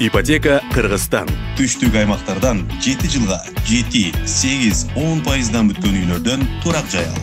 Ипотека Кыргызстан. Түштүк аймактардан 7 жылга 7, 8, 10% бүткөн үйлөрдөн турак жай ал.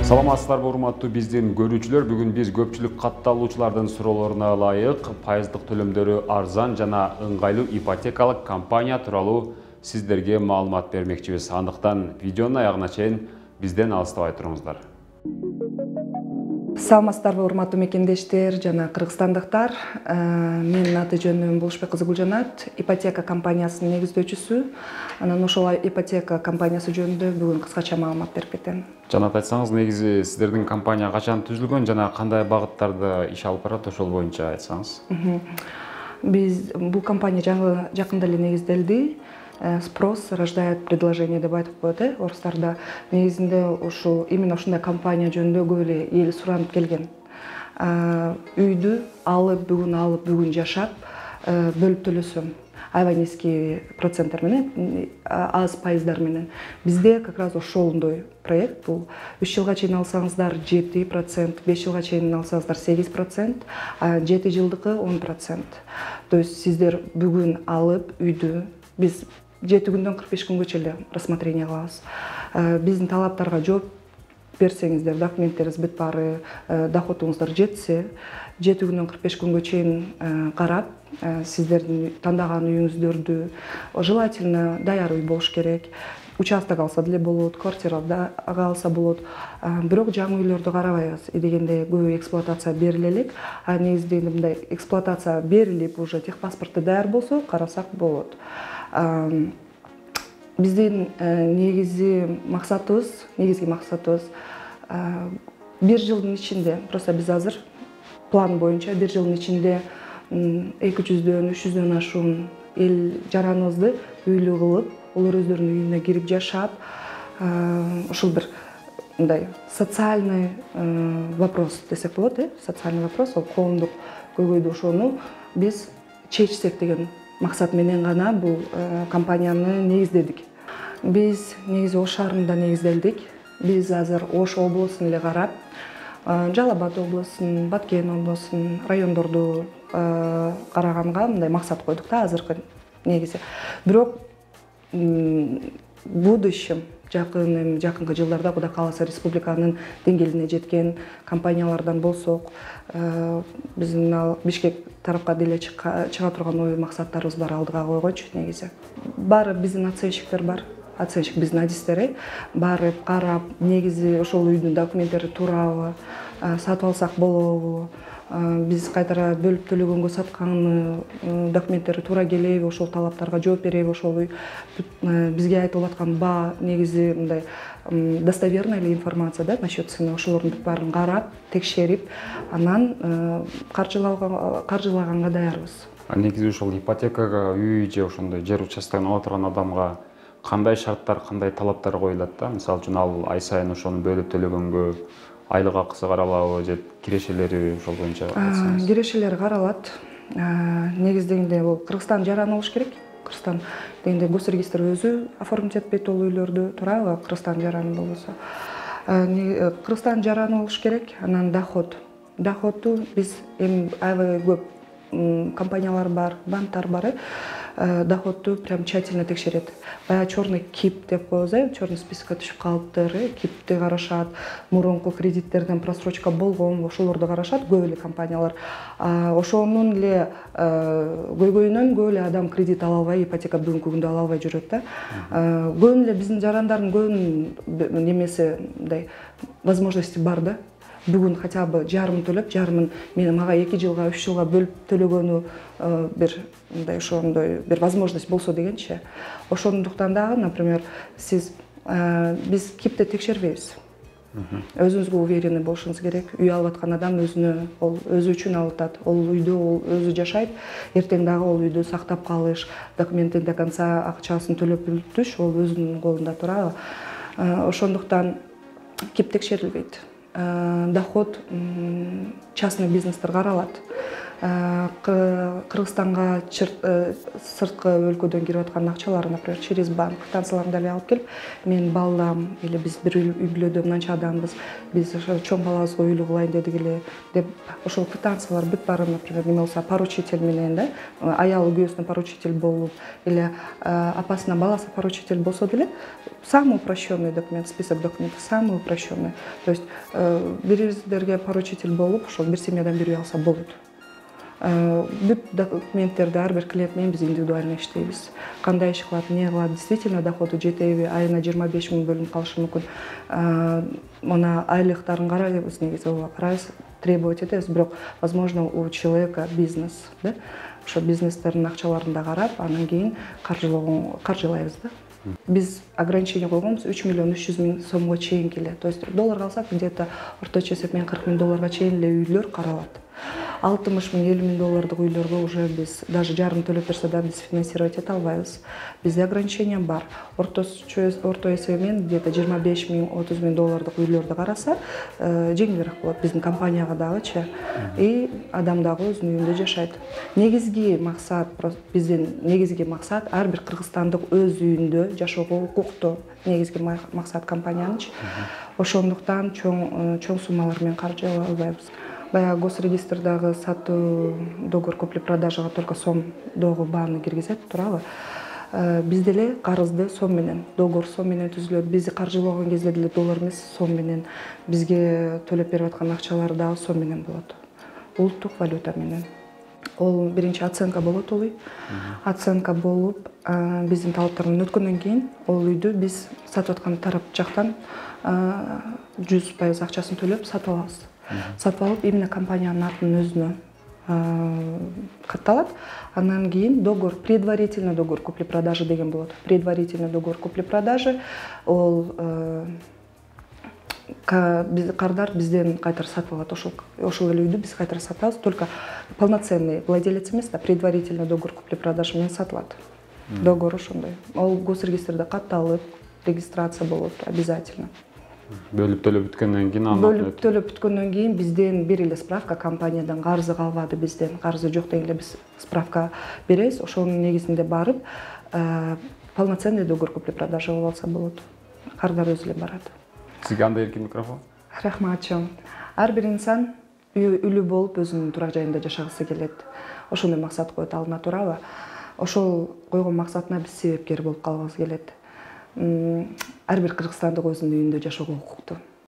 Саламатсыздарбы урматтуу биздин көрүүчүлөр, бүгүн биз көпчүлүк катталуучулардын суроолоруна ылайык пайыздык төлөмдөрү арзан жана ыңгайлуу ипотекалык компания тууралуу сиздерге маалымат бермекчибиз. Андыктан видеонун аягына чейин бизден алыстабай туруңуздар. Саламатсыздарбы урматтуу мекендештер жана кыргызстандыктар. Менин аты жөнүм Болушбек кызы Гүлжанат, ипотека компаниясынын негиздөөчүсү. Анан ошол ипотека компаниясы жөнүндө бүгүн кыскача маалымат берип кетем. Жанат, айтсаңыз, негизи сиздердин компания качан түзүлгөн жана кандай багыттарда иш алып барат, ошол боюнча айтсаңыз. Бул компания жакында эле негизделди. Спрос рождает предложение деп айтып коет, орустарда. Негизинде именно ушундай компания жөнүндө көп эле эл суранып келген. Үйдү бүгүн жашап, бөлүп төлөсөм, аябай низкий проценттер менен, аз пайыздар менен. Бизде как раз ошондой проект бул. 3 жылга чейин алсаңыздар 7%, 5 жылга чейин алсаңыздар 8%, 7 жылдыкы 10%. То есть сиздер бүгүн алып үйдү биз 7 күндөн 45 күнгөчө эле рассмотрение кылабыз. Биздин талаптарга жооп берсеңиздер, документтериңиз бүт баары, доходуңуздар жетсе, 7 күндөн 45 күнгө чейин карап, сиздердин тандаган үйүңүздөрдү желательно даяр үй болуш керек. Участок алса деле болот, квартира алса болот. Бирок жаңы үйлөрдү карабайбыз. Дегенде көп эксплуатация бериле элек. Негизинде мындай эксплуатация берилип, уже техпаспорты даяр болсо, карасак болот. Биздин негизги максатыбыз 1 жылдын ичинде, просто биз азыр план боюнча 1 жылдын ичинде 200-дөн 300дөн ашуун эл жараныбызды үйлүү кылып, олар өздөрүнүн үйүнө кирип жашап, ошол бир мындай социальный вопрос десек болот, социальный вопрос, ол коомдук көйгөйдү ошону биз чечсек деген максат менен гана бул компанияны негиздедик. Биз негизи Ош шаарында негизделдик. Биз азыр Ош облусун эле карап, Жалал Абад облусун, Баткен облусун, райондорду караганга мындай максат койдук да азыркы негизи. Бирок будущем жакынкы жылдарда Кудай кааласа республиканын деңгээлине жеткен компаниялардан болсок, биздин Бишкек тарапка деле чыга турган ой максаттарыбыз бар алдыга койгончу негизи. Баары биздин оценщиктер бар. Оценщик биздин адистер барып карап, негизи ошол үйдүн документтери туурабы, сатып алсак болобу, биз кайтара бөлүп төлөгөнгө саткан документтери туура келеби, ошол талаптарга жооп береби, ошол үй бизге айтылып аткан баа негизи мындай достоверный эле информация да насчет цены, ошолордун бүт баарын карап, текшерип, анан каржылаганга даярбыз. Негизи ошол ипотекага үй же ошондой жер участкын ала турган адамга кандай шарттар, кандай талаптар коюлат да? Мисалы үчүн ал ай сайын ошону бөлүп төлөгөнгө айлык акысы каралабы же кирешелери ошол боюнча айтсаңыз. Кирешелери каралат. Негизинде бул Кыргызстан жараны болуш керек. Кыргызстан дегенде госрегистр өзү оформить этпейт ол үйлөрдү, туурабы? Кыргызстан жараны болбосо. Кыргызстан жараны болуш керек. Анан доходу биз эми аябай көп компаниялар бар, банктар бар. Доходду прям тщательно текшерет. Баягы черный кип деп коебуз, черный спискке түшүп калыптыр, кипти карашат, мурунку кредиттерден просрочка болгонбу, ошолорду карашат көп эле компаниялар. Ошонун эле көйгөйүнөн көп эле адам кредит ала албай, ипотека бүгүнкү күндө ала албай жүрөт да. Көп эле биздин жарандардын көбүнүн немеси мындай возможности бар да. бүгүн хотя бы жарымын төлөп, жарымын мага 2 жылга 3 жылга бөлүп төлөгөнү бир мындай ошондой бир возможность болсо дегенчи. Ошондуктан дагы, например, сиз биз кипти текшербейбиз. Өзүңүзгө уверенный болушуңуз керек. Үй алып аткан адам өзү үчүн алып атат. Ол үйдө ол өзү жашайт. Эртең дагы ол үйдү сактап калыш, документин до конца акчасын төлөп бүтүш ол өзүнүн колунда турабы. Ошондуктан кип текшерилбейт. Доход частный бизнестер каралат. Кыргызстанга сырткы өлкөдөн кирип аткан акчалар, например, через банк квитанцияларын деле алып келип, мен балдам или биз бир үй бүлөдө мынча адамбыз, биз ошо чоң балабызга үйлүү кылайын дедик эле деп ошол квитанциялар бүт баары, например, неме болсо поручитель менен да, аялы күйөөсүнө поручитель болуп или апасына баласы поручитель болсо деле самый упрощенный документ, список документов самый упрощенный. То есть бириңиздерге поручитель болуп, ошол бир семьядан бир үй алса болот. Бүт документтерди ар бир клиент менен биз индивидуально иштейбиз. Кандай иш кылат, эмне кылат, действительно доходу жетеби, айына 25 000 бөлүнүп калышы мүмкүн. Мына айлыктарын карайбыз, негизи ооба карайбыз, требовать этебиз, бирок возможно у человека бизнес, да? Ошо бизнестердин акчаларын да карап, анан кийин каржылайбыз да. Биз ограничение койгонбуз 3 300 000 сомго чейин келе. То есть долларга алсак, где-то орточо эсеп менен 40 000 долларга чейин эле үйлөр каралат. 60 000 50 000 доллардык үйлөргө уже биз даже жарым төлөп берсе да биз финансировать эте албайбыз. Бизде ограничение бар. Орто эсеби менен где-то 25 000 30 000 доллардык үйлөрдү караса, жеңилирээк болот биздин компанияга дагычы. И адам дагы өзүнүн үйүндө жашайт. Негизги максат, биздин негизги максат ар бир кыргызстандык өз үйүндө жашоого укуктуу. Негизги максат компаниянычы. Ошондуктан чоң суммалар менен каржылай албайбыз. Баягы госрегистрдагы сатуу договор купли-продажага только сом догу бааны киргизет, турабы? Бизде эле карызды сом менен, договор сом менен түзүлөт. Бизди каржылаган кезде деле доллар эмес, сом менен. Бизге төлөп берип аткан акчалар дагы сом менен болот. Улуттук валюта менен. Ол биринчи оценка болот ой. Оценка болуп, биздин талаптардан өткөндөн кийин ол үйдү биз сатып аткан тарап жактан 100% акчасын төлөп сатып алабыз. Сатып алып, именно компаниянын атын өзүнө катталат. Андан кийин договор, предварительный договор купли-продажи деген болот. Предварительный договор купли-продажи ол кардар бизден кайтара сатып алат. Ошол эле үйдү биз кайтара сатып алабыз, только полноценный владелец эмес да, предварительный договор купли-продажи менен сатылат. Договор ошондой. Ол госрегистрде катталып, регистрация болот обязательно. Бөлүп төлөп бүткөндөн кийин бөлүп төлөп бүткөндөн кийин бизден бир эле справка компаниядан карызы калбады, бизден карызы жок деген эле биз справка беребиз. Ошонун негизинде барып полноценный договор купли-продажи болуп алса болот. Кардар өзү эле барат. Сизге андай эркин микрофон. Рахмат чоң. Ар бир инсан үлүү болуп өзүнүн турак жайында жашагысы келет. Ошондой максат коет алдына, турабы? Ошол койгон максатына биз себепкер болуп калгыбыз келет. Ар бир кыргызстандык өзүнүн үйүндө жашоого укуктуу.